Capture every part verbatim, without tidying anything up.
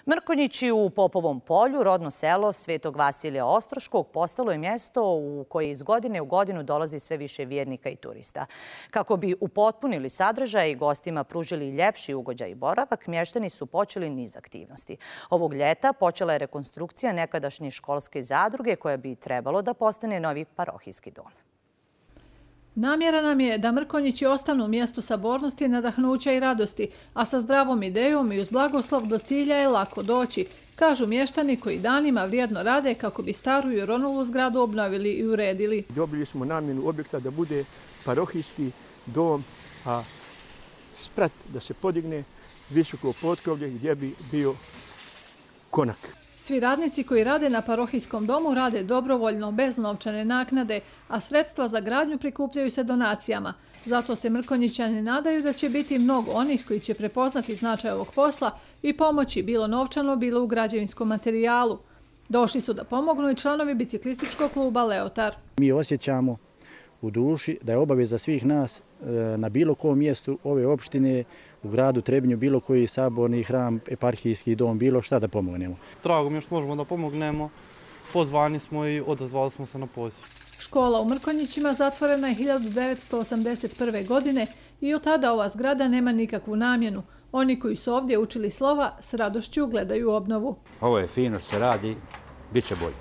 Mrkonjići u Popovom polju, rodno selo Svetog Vasilija Ostroškog, postalo je mjesto u koje iz godine u godinu dolazi sve više vjernika i turista. Kako bi upotpunili sadržaj i gostima pružili ljepši ugođaj i boravak, mještani su počeli niz aktivnosti. Ovog ljeta počela je rekonstrukcija nekadašnje školske zadruge koja bi trebalo da postane novi parohijski dom. Namjera nam je da Mrkonjići ostanu mjesto sabornosti, nadahnuća i radosti, a sa zdravom idejom i uz blagoslov do cilja je lako doći, kažu mještani koji danima vrijedno rade kako bi staru i oronulu zgradu obnovili i uredili. Dobili smo namjenu objekta da bude parohijski dom, a sprat da se podigne visoko potkrovlje gdje bi bio konak. Svi radnici koji rade na parohijskom domu rade dobrovoljno, bez novčane naknade, a sredstva za gradnju prikupljaju se donacijama. Zato se Mrkonjićani nadaju da će biti mnogo onih koji će prepoznati značaj ovog posla i pomoći bilo novčano, bilo u građevinskom materijalu. Došli su da pomognu i članovi biciklističkog kluba Leotar. Mi osjećamo u duši da je obaveza svih nas na bilo kom mjestu ove opštine, u gradu Trebinju, bilo koji saborni hram, eparhijski dom, bilo šta da pomognemo. Drago mi je što možemo da pomognemo, pozvani smo i odazvali smo se na poziv. Škola u Mrkonjićima zatvorena je hiljadu devetsto osamdeset prve. godine i od tada ova zgrada nema nikakvu namjenu. Oni koji su ovdje učili slova s radošću gledaju obnovu. Ovo je fino što se radi, bit će bolje.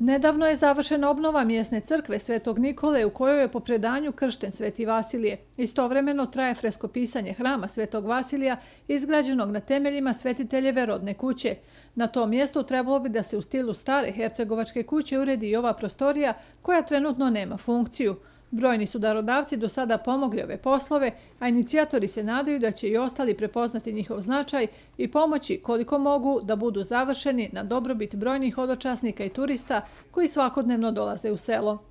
Nedavno je završena obnova mjesne crkve Svetog Nikole u kojoj je po predanju kršten Sveti Vasilije. Istovremeno traje freskopisanje hrama Svetog Vasilija izgrađenog na temeljima svetiteljeve rodne kuće. Na tom mjestu trebalo bi da se u stilu stare hercegovačke kuće uredi i ova prostorija koja trenutno nema funkciju. Brojni su darodavci do sada pomogli ove poslove, a inicijatori se nadaju da će i ostali prepoznati njihov značaj i pomoći koliko mogu da budu završeni na dobrobit brojnih hodočasnika i turista koji svakodnevno dolaze u selo.